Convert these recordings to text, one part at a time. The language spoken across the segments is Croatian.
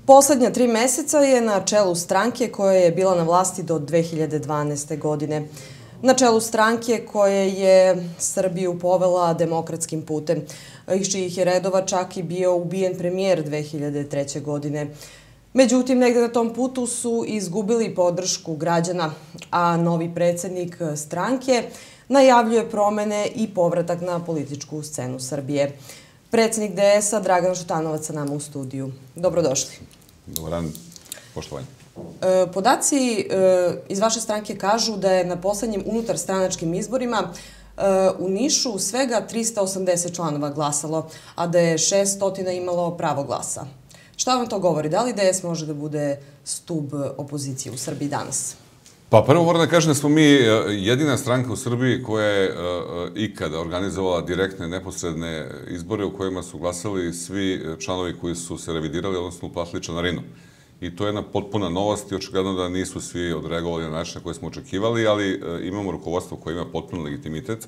Poslednja 3 meseca je na čelu stranke koja je bila na vlasti do 2012. godine. Na čelu stranke koja je Srbiju povela demokratskim putem, iz čijih je redova čak i bio ubijen premijer 2003. godine. Međutim, negde na tom putu su izgubili podršku građana, a novi predsednik stranke najavljuje promene i povratak na političku scenu Srbije. Predsednik DS-a Dragan Šutanovac sa nama u studiju. Dobrodošli. Dobar dan, poštovanje. Podaci iz vaše stranke kažu da je na poslednjim unutarstranačkim izborima u Nišu svega 380 članova glasalo, a da je 600 imalo pravo glasa. Šta vam to govori? Da li DS može da bude stub opozicije u Srbiji danas? Pa prvo moram da kažem da smo mi jedina stranka u Srbiji koja je ikada organizovala direktne, neposredne izbore u kojima su glasali svi članovi koji su se revidirali, odnosno uplatili članarinu. I to je jedna potpuna novost i očigledno da nisu svi odreagovali na način na koji smo očekivali, ali imamo rukovodstvo koje ima potpun legitimitet.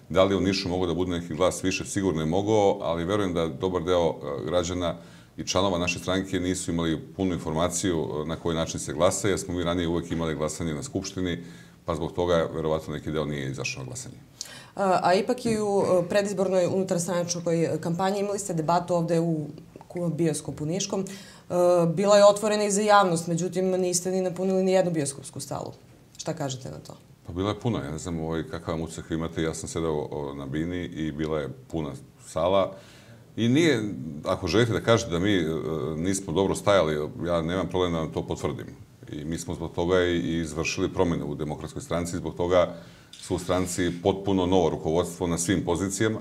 Da li u Nišu mogu da bude neki glas više? Sigurno je mogao, ali verujem da dobar deo građana i članova naše stranke nisu imali punu informaciju na koji način se glasa, jer smo mi ranije uvek imali glasanje na Skupštini, pa zbog toga verovatno neki deo nije izašao na glasanje. A ipak i u predizbornoj unutarstranačkoj kampanji imali ste debatu ovde u bioskopu Niškom. Bila je otvorena i za javnost, međutim niste ni napunili ni jednu bioskopsku salu. Šta kažete na to? Pa bila je puna, ja ne znam kakav vam utisak imate, ja sam sedao na bini i bila je puna sala. I nije, ako želite da kažete da mi nismo dobro stajali, ja nemam problem da vam to potvrdim. I mi smo zbog toga i izvršili promjene u Demokratskoj stranci, zbog toga su u stranci potpuno novo rukovodstvo na svim pozicijama.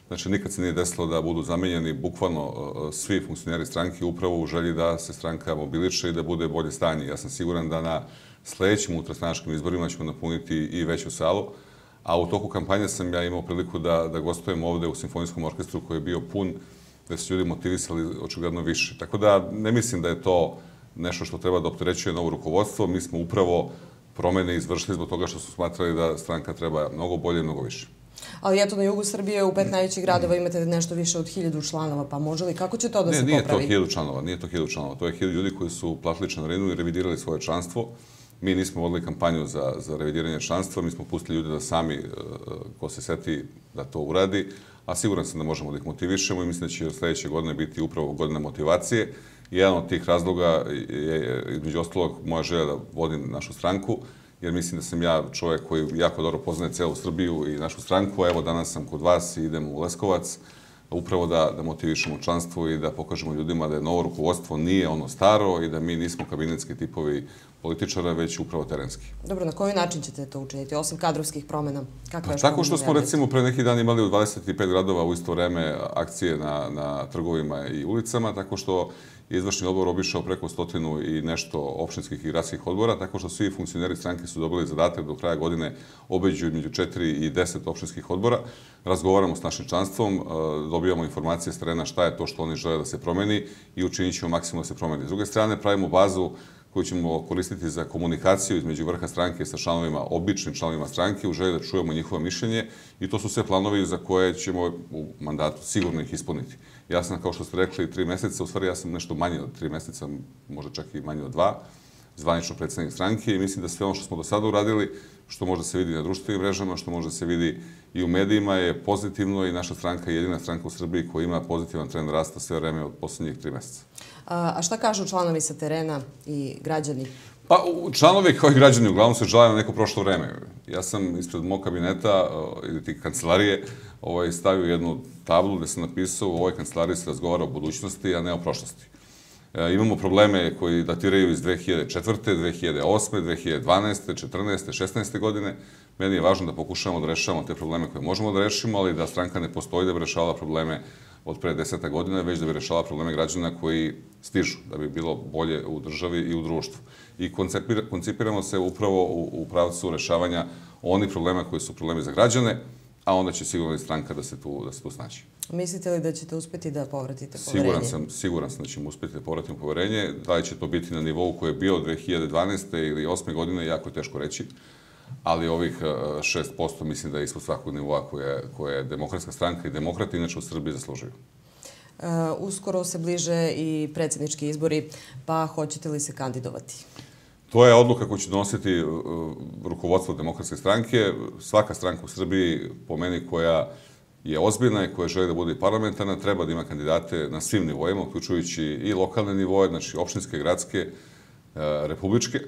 Znači, nikad se nije desilo da budu zamenjeni bukvalno svi funkcioneri stranke upravo u želji da se stranka mobiliše i da bude bolje stanje. Ja sam siguran da na sledećim unutarstranačkim izborima ćemo napuniti i veću salu. A u toku kampanje sam ja imao priliku da gostujem ovde u Simfonijskom orkestru koji je bio pun, da su ljudi motivisali očigledno više. Tako da ne mislim da je to nešto što treba da opterećuje novo rukovodstvo. Mi smo upravo promene izvršili zbog toga što su smatrali da stranka treba mnogo bolje i mnogo više. Ali eto, na jugu Srbije u 5 najvećih gradova imate nešto više od 1000 članova, pa može li? Kako će to da se popravi? Nije to 1000 članova, nije to 1000 članova. To je 1000 ljudi koji su platili članarinu i revidirali svoje članstvo. Mi nismo vodili kampanju za revidiranje članstva, mi smo pustili ljude da sami, ko se seti, da to uradi, a siguran sam da možemo da ih motivišemo i mislim da će sledeće godine biti upravo godina motivacije. Jedan od tih razloga je, između ostalog, moja želja da vodim našu stranku, jer mislim da sam ja čovjek koji jako dobro poznaje celu Srbiju i našu stranku, a evo danas sam kod vas i idem u Leskovac, upravo da motivišemo članstvo i da pokažemo ljudima da je novo rukovodstvo nije ono staro i da mi nismo kabinetski tipovi političara, već upravo terenski. Dobro, na koji način ćete to učiniti, osim kadrovskih promjena? Tako što smo recimo pre neki dan imali u 25 gradova u isto vreme akcije na trgovima i ulicama, tako što je izvršni odbor obišao preko 100 i nešto opštinskih i gradskih odbora, tako što svi funkcioneri stranke su dobili zadatak do kraja godine obeđu između 4 i 10 opštinskih odbora. Razgovaramo s našim članstvom, dobijamo informacije s terena šta je to što oni žele da se promeni i učinit ćemo maksimalno da se promeni. S druge strane, pravimo bazu koju ćemo koristiti za komunikaciju između vrha stranke sa članovima, običnim članovima stranke, u želji da čujemo njihovo mišljenje i to su sve planovi za koje ćemo u mandatu sigurno ih ispuniti. Ja sam, kao što ste rekli, 3 meseca, u stvari ja sam nešto manje od 3 meseca, možda čak i manje od 2, zvanično predsednik stranke i mislim da sve ono što smo do sada uradili, što može da se vidi na društvenim mrežama, što može da se vidi i u medijima, je pozitivno i naša stranka je jedina stranka u Srbiji koja ima pozitivan trend rasta sve vreme od poslednjih 3 meseca. A šta kažu članovi sa terena i građani? Pa, članovi kao i građani uglavnom se žele na neko prošlo vreme. Ja sam ispred mog kabineta ili ti kancelarije stavio jednu tablu gde sam napisao u ovoj kancelariji se razgovara o budućnosti, a ne o prošlosti. Imamo probleme koji datiraju iz 2004. 2008. 2012. 2014. 2016. godine. Meni je važno da pokušamo da rešavamo te probleme koje možemo da rešimo, ali da stranka ne postoji da bi rešavala probleme od pre 10 godina, već da bi rešavala probleme građana koji stižu, da bi bilo bolje u državi i u društvu. I koncipiramo se upravo u pravcu rešavanja onih problema koji su problemi za građane, a onda će sigurno i stranka da se tu snaći. Mislite li da ćete uspeti da povratite poverenje? Siguran sam da ćemo uspeti da povratimo poverenje. Da li će to biti na nivou koji je bio 2012. ili 2008. godine, jako je teško reći. Ali ovih 6% mislim da je ispod svakog nivoa koje je Demokratska stranka i demokrati inače u Srbiji zaslužuju. Uskoro se bliže i predsjednički izbori, pa hoćete li se kandidovati? To je odluka koju će donositi rukovodstvo Demokratske stranke. Svaka stranka u Srbiji, po meni, koja je ozbiljna i koja želi da bude parlamentarna, treba da ima kandidate na svim nivoima, uključujući i lokalne nivoje, znači opštinske, gradske, republičke,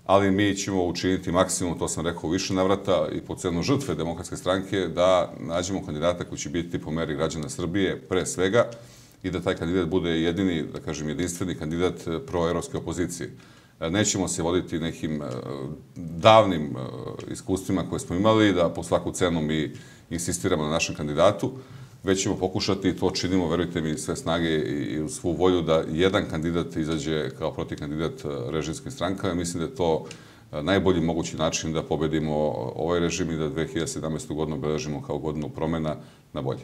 ali mi ćemo učiniti maksimum, to sam rekao u više navrata, i po cenu žrtve Demokratske stranke, da nađemo kandidata koji će biti po meri građana Srbije, pre svega, i da taj kandidat bude jedini, da kažem, jedinstveni kandidat proevropske opozicije. Nećemo se voditi nekim davnim iskustvima koje smo imali, da po svaku cenu mi insistiramo na našem kandidatu, već ćemo pokušati, i to činimo, verujte mi, sve snage i u svu volju, da jedan kandidat izađe kao protivkandidat režimskim strankama. Mislim da je to najbolji mogući način da pobedimo ovaj režim i da 2017. godinu obeležimo kao godinu promena na bolje.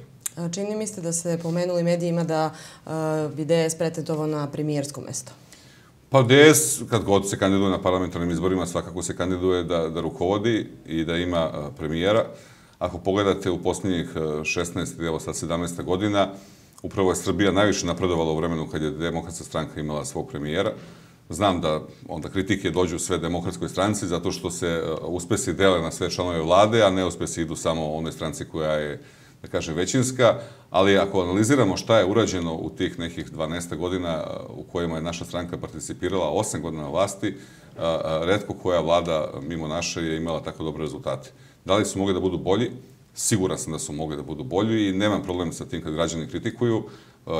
Čini mi ste da ste pomenuli medijima da bi DS pretentovao na premijersko mesto. Pa DS, kad god se kandiduje na parlamentarnim izborima, svakako se kandiduje da rukovodi i da ima premijera. Ako pogledate u posljednjih 16 ili evo sad 17 godina, upravo je Srbija najviše napredovala u vremenu kad je Demokratska stranka imala svog premijera. Znam da onda kritike dođu sve Demokratskoj stranci zato što se uspesi dele na sve članove vlade, a neuspesi idu samo onoj stranci koja je, da kažem, većinska, ali ako analiziramo šta je urađeno u tih nekih 12 godina u kojima je naša stranka participirala, 8 godina na vlasti, retko koja vlada mimo naše je imala tako dobre rezultate. Da li su mogli da budu bolji? Siguran sam da su mogli da budu bolji i nemam problem sa tim kad građani kritikuju.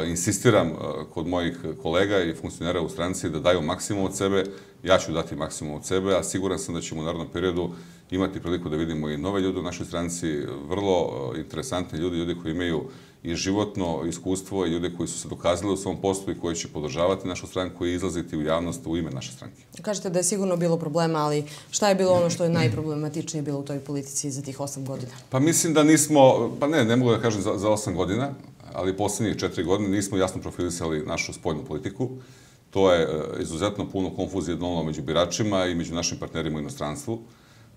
Insistiram kod mojih kolega i funkcionera u stranci da daju maksimum od sebe. Ja ću dati maksimum od sebe, a siguran sam da ćemo u narednom periodu imati priliku da vidimo i nove ljude u našoj stranci, vrlo interesantni ljudi koji imaju i životno iskustvo i ljude koji su se dokazali u svom poslu i koji će podržavati našu stranku i izlaziti u javnost u ime naše stranke. Kažete da je sigurno bilo problema, ali šta je bilo ono što je najproblematičnije bilo u toj politici za tih 8 godina? Pa mislim da nismo, pa ne mogu da kažem za 8 godina, ali posljednjih 4 godine nismo jasno profilisali našu spoljnu politiku. To je izuzetno puno konfuzije donalo među biračima i među našim partnerima u inostranstvu.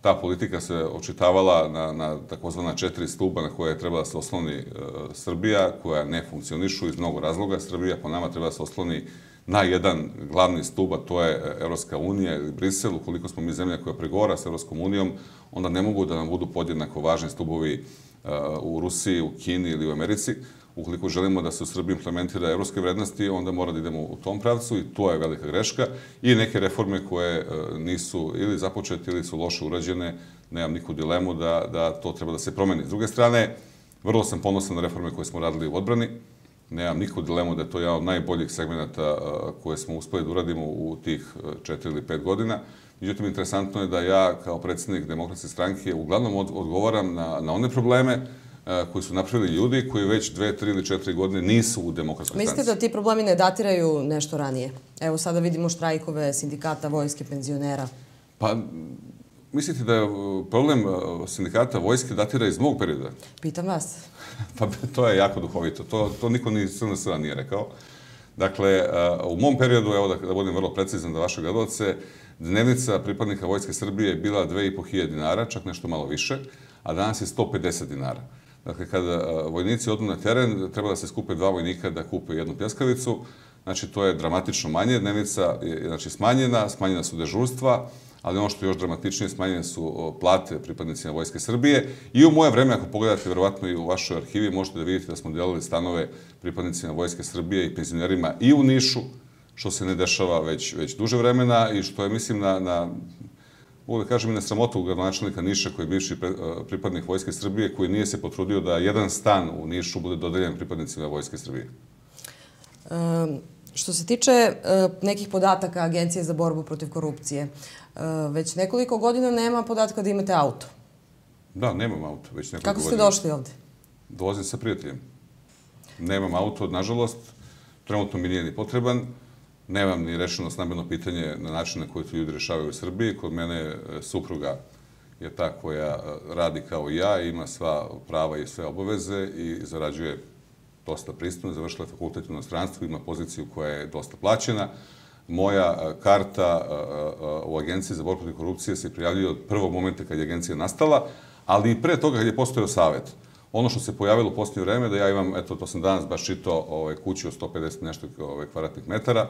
Ta politika se očitavala na takozvana 4 stuba na koje je trebala da se osloni Srbija, koja ne funkcionišu iz mnogo razloga. Srbija po nama treba da se osloni na jedan glavni stub, a to je Evropska unija ili Brisel. Ukoliko smo mi zemlja koja pregovara s Evropskom unijom, onda ne mogu da nam budu podjednako važni stubovi u Rusiji, u Kini ili u Americi. Ukoliko želimo da se u Srbiji implementira evropske vrednosti, onda mora da idemo u tom pravcu i to je velika greška. I neke reforme koje nisu ili započete ili su loše urađene, nemam niku dilemu da to treba da se promeni. S druge strane, vrlo sam ponosan na reforme koje smo radili u odbrani. Nemam niku dilemu da je to jedan od najboljih segmenata koje smo uspeli da uradimo u tih 4 ili 5 godina. Međutim, interesantno je da ja kao predsjednik Demokratske stranke uglavnom odgovaram na one probleme koji su napravili ljudi koji već 2, 3 ili 4 godine nisu u Demokratskoj stranci. Mislite da ti problemi ne datiraju nešto ranije? Evo sada vidimo štrajkove sindikata, vojske, penzionera. Pa, mislite da je problem sindikata vojske datira iz mog perioda? Pitam vas. Pa to je jako duhovito. To niko ni SNS nije rekao. Dakle, u mom periodu, evo da budem vrlo precizan da vaše gledalce, dnevnica pripadnika Vojske Srbije je bila 2.500 dinara, čak nešto malo više, a danas je 150 dinara. Dakle, kada vojnici odu na teren, treba da se skupe 2 vojnika da kupe jednu pljeskavicu. Znači, to je dramatično manje. Dnevnica je smanjena su dežurstva, ali ono što je još dramatičnije, smanjene su plate pripadnicima Vojske Srbije. I u moje vreme, ako pogledate, verovatno i u vašoj arhivi, možete da vidite da smo delili stanove pripadnicima Vojske Srbije i penzionerima i u Nišu, što se ne dešava već duže vremena i što je, mislim, mogu da kažem i na sramotu gradonačelnika Niša, koji je bivši pripadnik Vojske Srbije, koji nije se potrudio da jedan stan u Nišu bude dodeljen pripadnicima Vojske Srbije. Što se tiče nekih podataka Agencije za borbu protiv korupcije, već nekoliko godina nema podatka da imate auto. Da, nemam auto već nekoliko godina. Kako ste došli ovde? Dolazim sa prijateljem. Nemam auto, nažalost, trenutno mi nije ni potreban. Nemam ni rešeno stambeno pitanje na način na koji to ljudi rešavaju u Srbiji. Kod mene supruga je ta koja radi kao i ja, ima sva prava i sve obaveze i zarađuje dosta pristojno, završila je fakultet u inostranstvu, ima poziciju koja je dosta plaćena. Moja karta u Agenciji za borbu protiv korupcije se prijavljuje od prvog momenta kad je agencija nastala, ali i pre toga kad je postojao savet. Ono što se pojavilo u posljednje vreme, da ja imam, eto, to sam danas baš čitao, kuću od 150 nešto kvadratnih metara,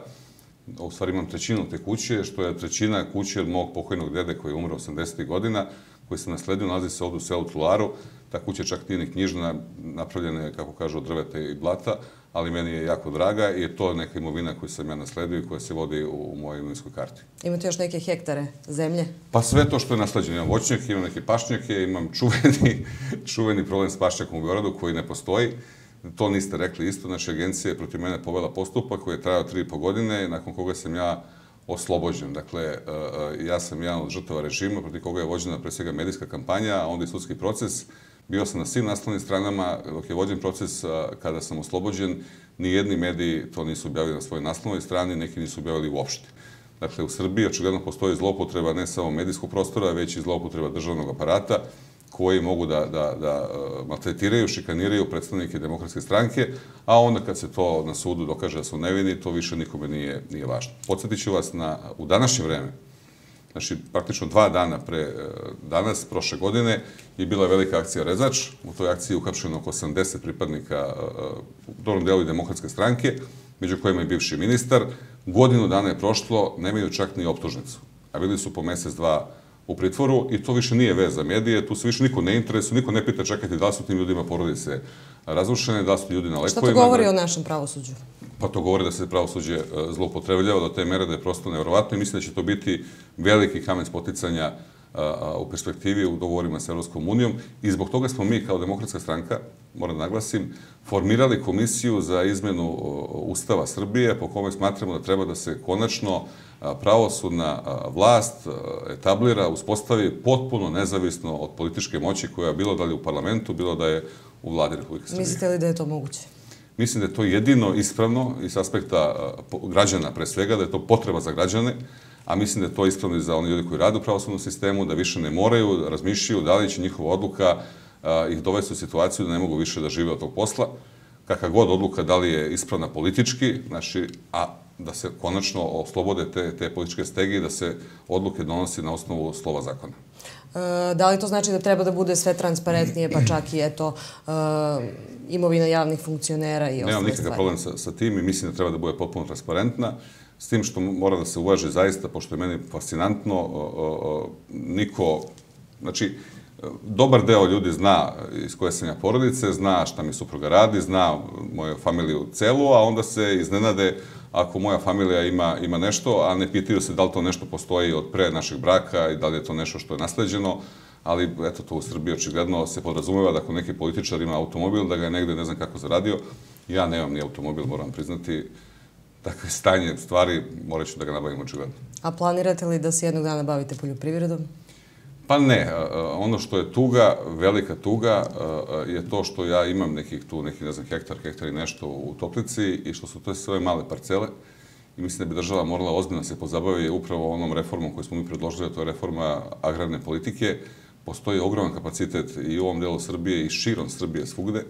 u stvari imam trećinu te kuće, što je trećina kuće od mog pokojnog dede koji je umro 80. godina, koji sam nasledio, nalazi se ovdje u selu Tularu. Ta kuća čak nije ni knjižna, napravljena je, kako kažu, od drveta i blata, ali meni je jako draga i je to neka imovina koju sam ja nasledio i koja se vodi u mojoj imovinskoj karti. Imate još neke hektare zemlje? Pa sve to što je nasleđeno. Imam voćnjake, imam neke pašnjake, imam čuveni problem s pašnjakom u Beogradu koji ne postoji. To niste rekli isto. Znači, agencija je protiv mene povela postupak koji je trajao 3,5 godine, nakon koga sam ja oslobođen. Dakle, ja sam jedan od žrtava režima protiv koga je vođena pre svega medijska kampanja, a onda i sudski proces. Bio sam na svim naslovnim stranama dok je vođen proces. Kada sam oslobođen, nijedni mediji to nisu objavili na svojoj naslovnoj strani, neki nisu objavili uopšte. Dakle, u Srbiji očigledno postoji zloupotreba ne samo medijskog prostora, već i zloupotreba državnog aparata, koji mogu da maltretiraju, šikaniraju predstavnike Demokratske stranke, a onda kad se to na sudu dokaže da su nevini, to više nikome nije važno. Podsjetit ću vas u današnje vreme, znači praktično 2 dana pre danas, prošle godine, je bila velika akcija Rezač. U toj akciji je uhapšeno oko 80 pripadnika u dobrom delu i Demokratske stranke, među kojima je bivši ministar. Godinu dana je prošlo, nemaju čak ni optužnicu, a bili su po mesec, 2 u pritvoru i to više nije vez za medije, tu se više niko ne interesuje, niko ne pita čekajte da li su tim ljudima porodice razrušene, da li su ljudi na lekovima. Šta to govori o našem pravosuđu? Pa to govori da se pravosuđe zloupotrebljava do te mere da je prosto nevjerovatno i mislim da će to biti veliki kamen spoticanja u perspektivi u dogovorima s Evropskom unijom i zbog toga smo mi kao Demokratska stranka, moram da naglasim, formirali komisiju za izmenu Ustava Srbije po kome smatramo da treba da se konačno pravosudna vlast etablira, uspostavi potpuno nezavisno od političke moći koja je bilo da li u parlamentu, bilo da je u vladi Republike Srbije. Mislite li da je to moguće? Mislim da je to jedino ispravno iz aspekta građana pre svega, da je to potreba za građane, a mislim da je to ispravno i za one ljudi koji rade u pravosudnom sistemu, da više ne moraju da razmišljaju da li će njihova odluka ih dovesti u situaciju da ne mogu više da žive od tog posla. Kakva god odluka, da li je ispravna politički, znači, a da se konačno oslobode te političke stege i da se odluke donosi na osnovu slova zakona. Da li to znači da treba da bude sve transparentnije, pa čak i imovina javnih funkcionera i ostale stvari? Nemam nikakav problem sa tim i mislim da treba da bude potpuno transparentna, s tim što mora da se uvaži zaista, pošto je meni fascinantno, znači, dobar deo ljudi zna iz koje sam ja porodice, zna šta mi supruga radi, zna moju familiju celu, a onda se iznenade ako moja familija ima nešto, a ne pitaju se da li to nešto postoji od pre našeg braka i da li je to nešto što je nasleđeno, ali eto to u Srbiji očigledno se podrazumeva da ako neki političar ima automobil, da ga je negde ne znam kako zaradio. Ja nemam ni automobil, moram priznati. Takve stanje stvari, morat ću da ga nabavim očigledno. A planirate li da se jednog dana bavite poljoprivredom? Pa ne. Ono što je tuga, velika tuga, je to što ja imam nekih ne znam, hektar i nešto u Toplici i što su to sve male parcele. I mislim da bi država morala ozbiljno se pozabavi upravo onom reformom koju smo mi predložili, a to je reforma agrarne politike. Postoji ogroman kapacitet i u ovom delu Srbije i širom Srbije svugde.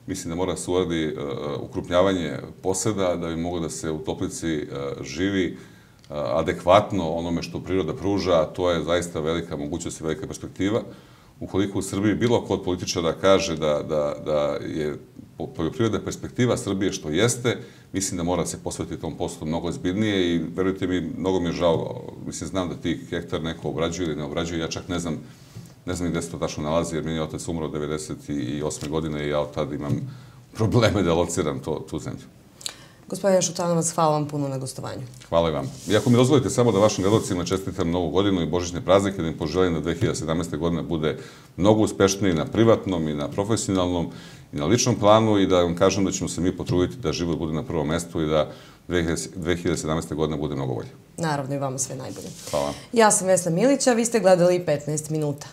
Mislim da mora se uradi ukrupnjavanje poseda da bi moglo da se u Toplici živi adekvatno onome što priroda pruža, a to je zaista velika mogućnost i velika perspektiva. Ukoliko u Srbiji bilo ko od političara kaže da je poljoprivredna perspektiva Srbije što jeste, mislim da mora se posvetiti tom poslu mnogo ozbiljnije i verujte mi, mnogo mi je žao. Mislim, znam da tih hektar neko obrađuje ili ne obrađuje, ja čak ne znam gde se to tačno nalazi, jer meni je otac umro 1998. godine i ja od tada imam probleme da lociram tu zemlju. Gospodine Šutanovac, hvala vam puno na gostovanju. Hvala i vam. I ako mi dozvolite samo da vašim gledalcima čestitam Novu godinu i Božićne praznike, da im poželim da 2017. godina bude mnogo uspešniji na privatnom i na profesionalnom i na ličnom planu i da vam kažem da ćemo se mi potruditi da život bude na prvom mestu i da 2017. godina bude mnogo bolje. Naravno i vama sve najbolje. Hvala. Ja sam Vesna Milić, a vi ste gledali 15 minuta.